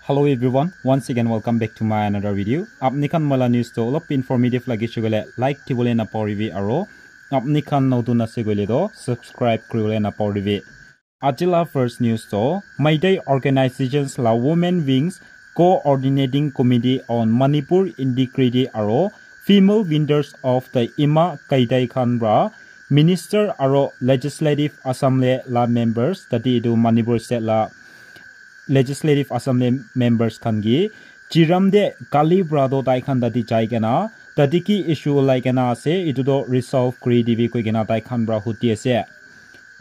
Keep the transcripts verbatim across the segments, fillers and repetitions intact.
Hello everyone, once again welcome back to my another video. Apni khan moila news to olop informative lagi shugule like thibole na poribi aro apni khan notun ase koile to subscribe kuribole na poribi. Ajila first news to Meitei organizations la women wings coordinating committee on Manipur integrity aro female windows of the Ima Kaitai khan bra minister aro legislative assembly la members tati itu Manipur state la legislative assembly members khan ki Chiram de kali bra do tai khan tati jai kena tati ki issue olai kena ase itu do resolve kuri dibi koi kena tai khan bra huti ase.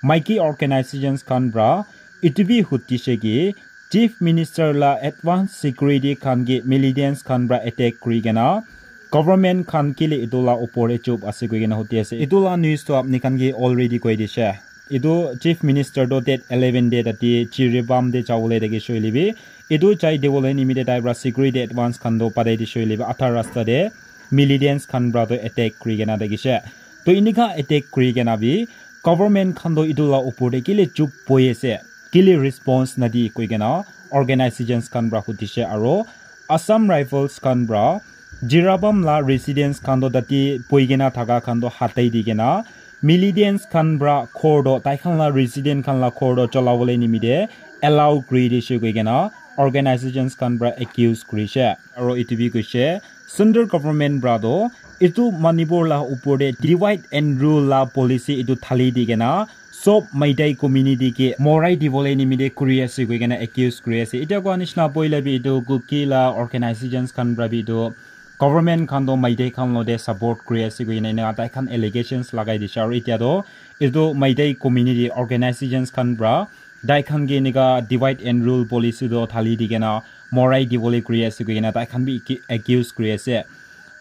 Maiki organizations khan bra itu bi huti she ki chief minister la advance security khan ki militants khan bra attack kuri kena government khan kile itu la upor e chup ase koi kena huti ase. Itu la news to apni khan ki already koi dishe. Itu chief minister to date eleven de tati Jiribam de jawole dagi shoile bi itu jai dewole nimite tai pra security advance khan to padai di shoile bi atha rasta de militants khan pra to attack kuri kena dagi she. To inika attack kuri kena bi government khan to itu la upor de kile chup boi ase, kile response nadi koi kena organizations khan pra hutishe aro Assam Rifles khan pra Jirabam la residents khan to tati boi kena thaka khan to hatai di kena militants khan pra khor to tai khan la resident khan la khor to cholawole nimite allow kuri dishe koi kena organizations khan pra accuse kurishe. Aro itu bi koishe central government pra to itu Manipur la upor de divide and rule la policy itu thali di kena sob Meitei community ke morai dibole nimite kuri ase koi kena accuse kuri ase. Itya koa nishina poila bi itu Kuki la organizations khan pra bi itu government khan to Meitei khan lo de support kuri ase koi kena ena tai khan allegations lagai dishe. Aro itya to itu Meitei community organizations khan pra tai khan ke enika divide and rule policy to thali di kena morai dibole kuri ase koi kena tai khan bi ki- accuse kuri ase.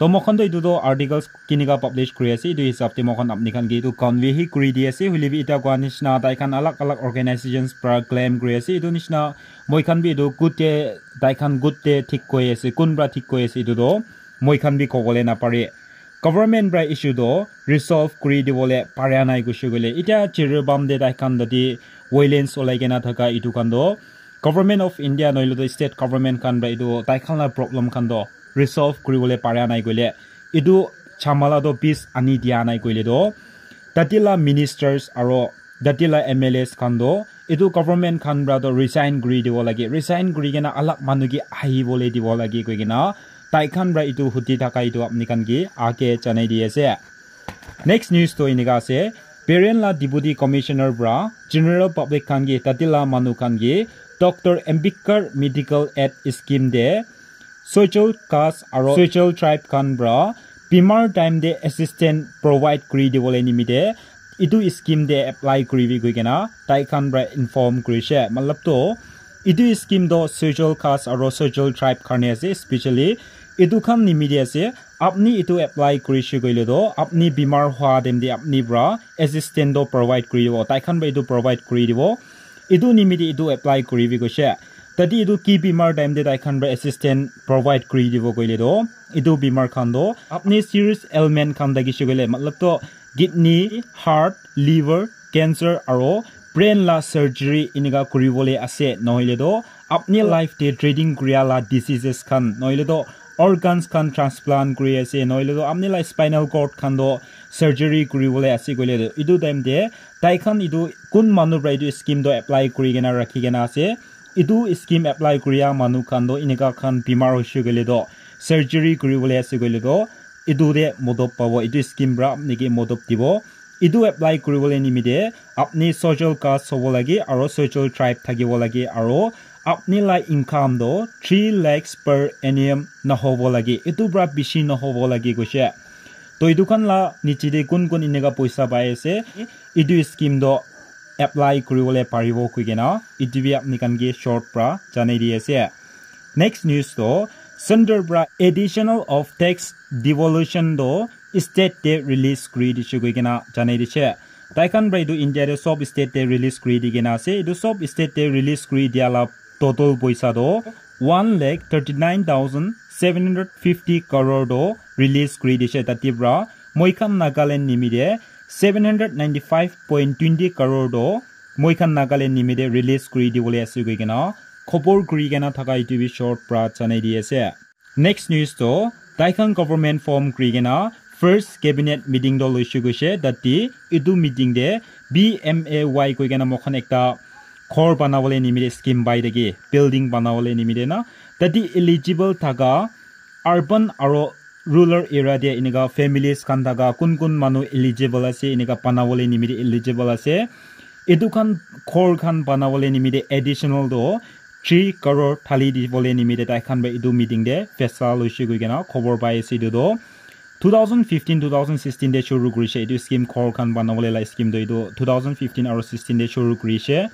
To mokhan to itu to articles kinika publish kuri ase, itu hisab te mokhan apni khan ke itu convey hi kuri di ase. Hoile bi ita koa nishina tai khan alag alag organizations pra claim kuri ase. Itu nishina moi khan bi itu good te tai khan good te thik koi ase, kun pra thik koi ase itu to moi khan bi kobole na pare. Government pra issue to resolve kuri dibole pare nai kuishe koile. Ita Jiribam de tai khan tati violence olai kena thaka itu khan to Government of India noile to state government khan pra itu tai khan la problem khan to resolve kuribole para nai koile itu chamala to peace ani dia nai koile to tati la ministers aro tati la M L As khan to itu government khan pra to resign kuri dibo lage, resign kuri kena alag manu ke ahibole dibo lage koi kena tai khan pra itu huti thaka itu apni khan ke ake janai di ase. Next news to enika ase, Peren la Deputy Commissioner pra General Public khan ke tati la manu khan ke Doctor Ambedkar Medical Aid Scheme de social caste aro social tribe khan pra bimar time de assistance provide kuri dibole nimite itu scheme de apply kuribi koi kena tai khan pra inform kurishe. Matlab to itu scheme to social caste aro social tribe karne ase, specially itu khan nimite ase. Apni itu apply kurishe koile to apni bimar hua time de apni pra assistance to provide kuri dibo, tai khan pra itu provide kuri dibo. Itu nimite itu apply kuribi koishe. Tati itu ki bimar time de tai khan pra assistance provide kuri dibo koile to itu bimar khan to apni serious ailment khan thakishe koile, matlab to kidney, heart, liver, cancer aro brain la surgery enika kuribole ase, nohoile to apni life te treating kuria la diseases khan, nohoile to organs khan transplant kuri ase, nohoile to apni la spinal cord khan to surgery kuribole ase koile to itu time te tai khan itu kun manu pra itu scheme to apply kuri kena rakhi kena ase. Itu scheme apply kuria manu khan to enika khan bimar hoishe koile to surgery kuribole ase koile to itu de modop pabo, itu scheme pra apni ke modop dibo. Itu apply kuribole nimite apni social caste hobo lage aro social tribe thakibo lage aro apni la income to three lakhs per annum nahobo lage, itu pra bishi nahobo lage koishe. To itu khan la niche de kun kun enika poisa pai ase, itu scheme to apply kuribole paribo koi kena itu bi apni khan ke short pra janai di ase. Next news to center pra additional of tax devolution to state te release kuri dishe koi kena janai dishe. Tai khan pra itu India te sob state te release kuri di kena ase. Itu sob state te release kuri dia la total poisa to one lakh thirty nine thousand seven hundred fifty crore to release kuri dishe. Tati pra moi khan Nagaland nimite seven hundred ninety five point twenty crore to moi khan Nagaland nimite release kuri dibole ase koi kena Khobor kuri kena thaka etu bi short pra janai di ase. Next news to, taikhan government form kuri kena first cabinet meeting to loishe koishe, tate etu meeting te B M A Y koi kena moikhan ekta ghor banabole nimite scheme pai thaki, building banabole nimite na, tate eligible thaka urban aro rural area te enika families khan thaka kun kun manu eligible ase, enika banabole nimite eligible ase. Etu khan ghor khan banabole nimite additional to three crore thali dibole nimite tai khan para etu meeting te faisla loishe koi kena khobor pai ase. Etu to two thousand fifteen, two thousand sixteen te shuru kurishe etu scheme, ghor khan banabole la scheme to etu two thousand fifteen aro sixteen te shuru kurishe.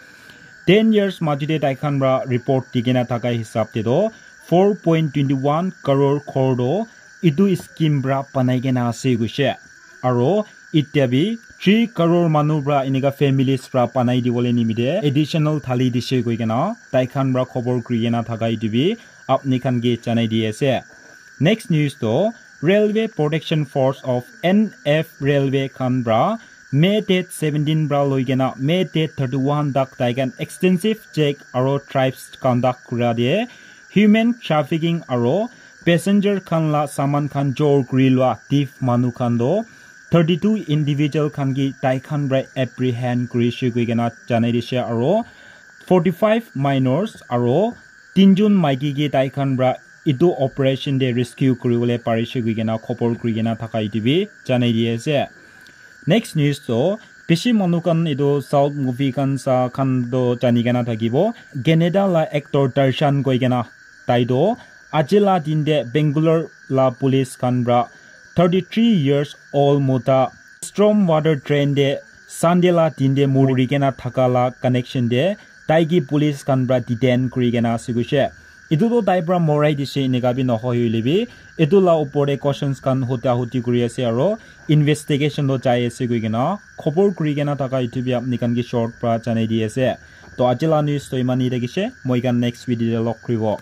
Ten years maji te tai khan para report di kena thaka hisab te to four point twenty one crore ghor to etu scheme para banai kena ase koishe. Aro itya bi three crore manu para enika families para banai dibole nimite additional thali dishe koi kena tai khan para khobor kuri kena thaka etu bi apni khan ke janai di ase. Next news to, Railway Protection Force of N F Railway khan para May date seventeen para loi kena May date thirty one tak tai khan extensive check aro drives conduct kura de human trafficking aro passenger khan la saman khan jor kuri lua thief manu khan to thirty two individual khan ki tai khan para apprehend kurishe koi kena janai dishe aro forty five minors aro tinjon maiki ke tai khan para etu operation te rescue kuribole parishe koi kena khobor kuri kena thaka etu bi janai di ase. Next news to, bishi manu khan etu South movie khan sa khan to jani kena thakibo. Canada la actor Darshan koi kena tai to aji la din te Bangalore la police khan para thirty three years old mota storm water drain te Sunday la din te muri kena thaka la connection te tai ki police khan para detain kuri kena ase koishe. Etu to tai para morai dishe enika bi nohoi hoile bi etu la upor te questions khan huta huti kuri ase aro investigation to jai ase koi kena khobor kuri kena thaka etu bi apni khan ke short para janai di ase. To aji la news to iman hi thakishe, moi khan next video te log kuribo.